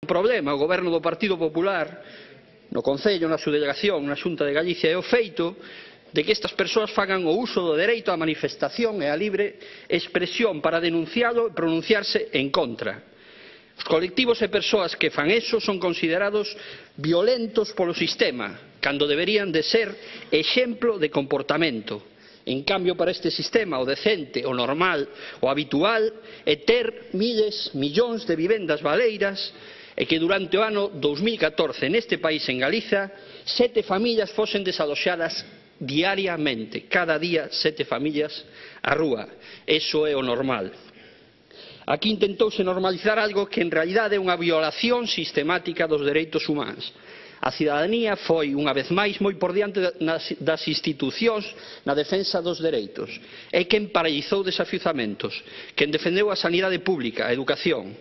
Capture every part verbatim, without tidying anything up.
problema o goberno do Partido Popular no Concello, na subdelegación, na Xunta de Galicia, é o feito de que estas persoas fagan o uso do dereito á manifestación e á libre expresión para denuncialo e pronunciarse en contra. Os colectivos e persoas que fan eso son considerados violentos polo sistema, cando deberían de ser exemplo de comportamento. En cambio, para este sistema, o decente, o normal, o habitual, é ter miles, millóns de vivendas baleiras e que durante o ano dous mil catorce neste país, en Galiza, sete familias fosen desaloxadas diariamente. Cada día sete familias á rúa. Eso é o normal. Aquí intentouse normalizar algo que en realidade é unha violación sistemática dos dereitos humanos. A cidadanía foi, unha vez máis, moi por diante das institucións na defensa dos dereitos. É quen paralizou desafiuzamentos, quen defendeu a sanidade pública, a educación.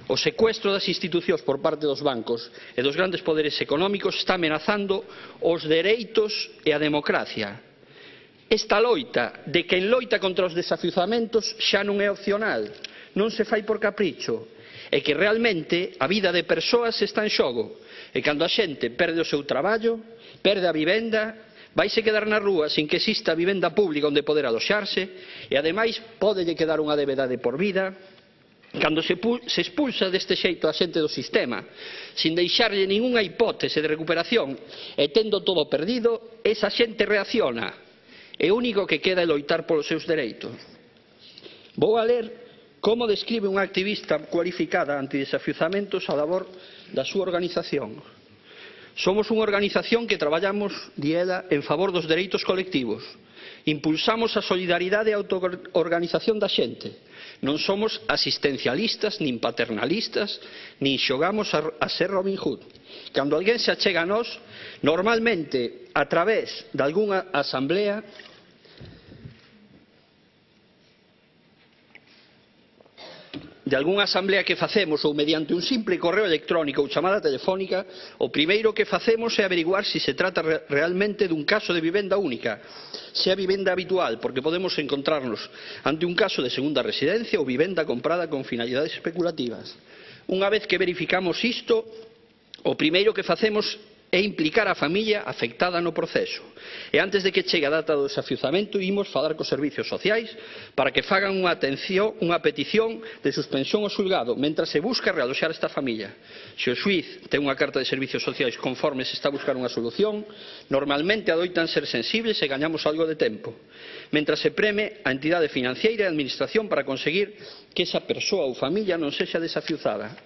O secuestro das institucións por parte dos bancos e dos grandes poderes económicos está amenazando os dereitos e a democracia. Esta loita de quen loita contra os desafiuzamentos xa non é opcional, non se fai por capricho, é que realmente a vida de persoas está en xogo. E cando a xente perde o seu traballo, perde a vivenda, vaise quedar na rúa sin que exista vivenda pública onde poder aloxarse e, ademais, pódelle quedar unha débeda de por vida. Cando se expulsa deste xeito a xente do sistema, sin deixarlle ningunha hipótese de recuperación e tendo todo perdido, esa xente reacciona. E o único que queda é loitar polos seus dereitos. Vou a ler como describe unha activista cualificada antidesafiuzamentos a labor da súa organización. Somos unha organización que traballamos, di ela, en favor dos dereitos colectivos. Impulsamos a solidaridade e a autoorganización da xente. Non somos asistencialistas, nin paternalistas, nin xogamos a, a ser Robin Hood. Cando alguén se achega a nós, normalmente a través de algunha asamblea, de algunha asamblea que facemos ou mediante un simple correo electrónico ou chamada telefónica, o primeiro que facemos é averiguar se se trata realmente dun caso de vivenda única, se é vivenda habitual, porque podemos encontrarnos ante un caso de segunda residencia ou vivenda comprada con finalidades especulativas. Unha vez que verificamos isto, o primeiro que facemos é implicar a familia afectada no proceso. E antes de que chegue a data do desafiuzamento, imos falar cos servicios sociais para que fagan unha atención, unha petición de suspensión ao xulgado, mentras se busca realoxar esta familia. Se o xuíz ten unha carta de servicios sociais conforme se está a buscar unha solución, normalmente adoitan ser sensibles e gañamos algo de tempo, mentras se preme a entidade financiera e a administración para conseguir que esa persoa ou familia non sexa desafiuzada.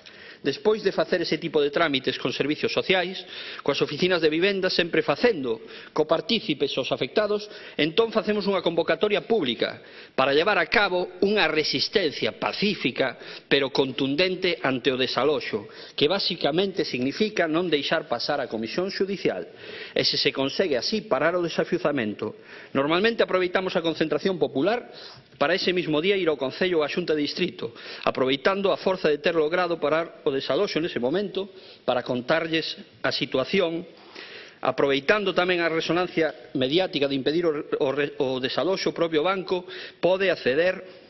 Despois de facer ese tipo de trámites con servicios sociais, coas oficinas de vivenda sempre facendo copartícipes aos afectados, entón facemos unha convocatoria pública para levar a cabo unha resistencia pacífica pero contundente ante o desaloxo, que basicamente significa non deixar pasar a comisión xudicial. E se se consegue así parar o desafiuzamento. Normalmente aproveitamos a concentración popular para ese mismo día ir ao Concello ou á Xunta de Distrito, aproveitando a forza de ter logrado parar o desaloxo nese momento para contarlles a situación, aproveitando tamén a resonancia mediática de impedir o, o, o desaloxo, o propio banco pode acceder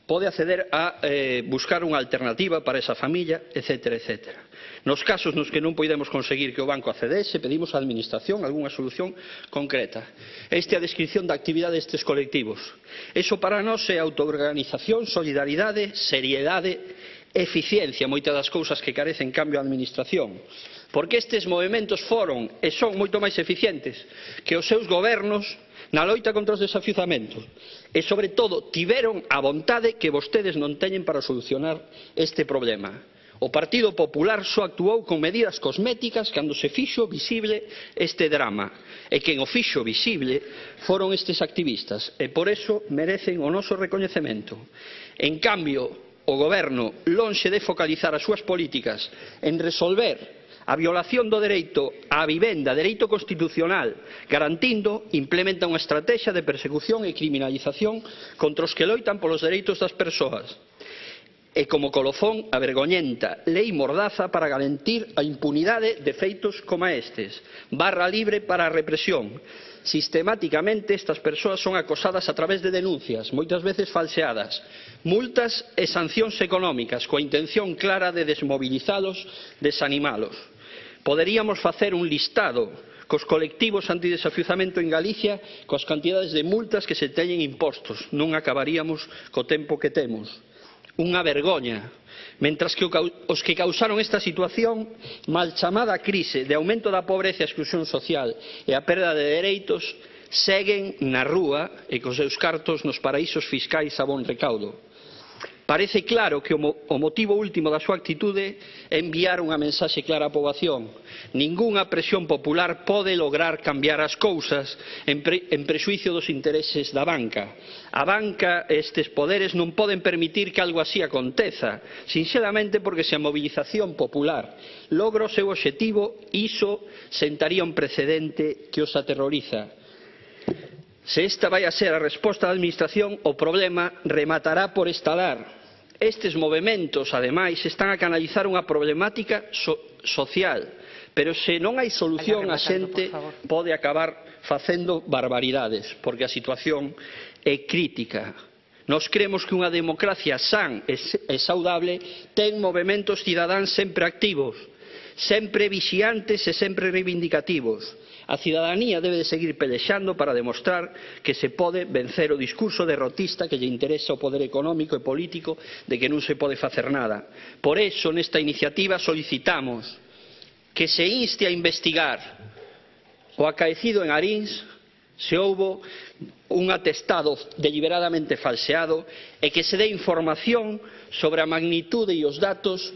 pode acceder a eh, buscar unha alternativa para esa familia, etcétera, etcétera. Nos casos nos que non poidemos conseguir que o banco accedese, pedimos á Administración algunha solución concreta. Esta é a descripción da actividade destes colectivos. Eso para nós é autoorganización, solidaridade, seriedade, eficiencia, moitas das cousas que carece en cambio a Administración. Porque estes movementos foron e son moito máis eficientes que os seus gobernos na loita contra os desafiuzamentos. E, sobre todo, tiveron a vontade que vostedes non teñen para solucionar este problema. O Partido Popular só actuou con medidas cosméticas cando se fixo visible este drama. E quen o fixo visible foron estes activistas. E por eso merecen o noso recoñecemento. En cambio, o Goberno, lonxe de focalizar as súas políticas en resolver a violación do dereito á vivenda, dereito constitucional, garantindo, implementa unha estrategia de persecución e criminalización contra os que loitan polos dereitos das persoas. e como colofón a vergoñenta lei mordaza para garantir a impunidade de feitos como estes, barra libre para a represión. Sistemáticamente estas persoas son acosadas a través de denuncias, moitas veces falseadas, multas e sancións económicas coa intención clara de desmovilizalos, desanimalos. Poderíamos facer un listado cos colectivos antidesafiuzamento en Galicia coas cantidades de multas que se teñen impostos. Non acabaríamos co tempo que temos. Unha vergoña. Mentras que os que causaron esta situación, mal chamada crise de aumento da pobreza e exclusión social e a perda de dereitos, seguen na rúa e cos seus cartos nos paraísos fiscais a bon recaudo. Parece claro que o motivo último da súa actitude é enviar unha mensaxe clara á poboación. Ningunha presión popular pode lograr cambiar as cousas en, pre, en prexuicio dos intereses da banca. A banca e estes poderes non poden permitir que algo así aconteza, sinxelamente porque se a mobilización popular logra o seu obxectivo, iso sentaría un precedente que os aterroriza. Se esta vai a ser a resposta da Administración, o problema rematará por estalar. Estes movementos, ademais, están a canalizar unha problemática so social, pero se non hai solución, a xente pode acabar facendo barbaridades, porque a situación é crítica. Nos cremos que unha democracia san e saudable ten movementos cidadáns sempre activos, sempre vixiantes e sempre reivindicativos. A cidadanía debe de seguir pelexando para demostrar que se pode vencer o discurso derrotista que lle interesa o poder económico e político de que non se pode facer nada. Por eso, nesta iniciativa solicitamos que se inste a investigar o acaecido en Arins, se houbo un atestado deliberadamente falseado, e que se dé información sobre a magnitude e os datos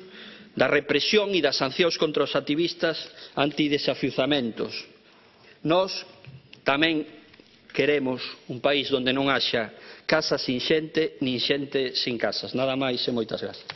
da represión e das sancións contra os activistas antidesafiuzamentos. Nós tamén queremos un país onde non haxa casas sin xente, nin xente sin casas. Nada máis e moitas gracias.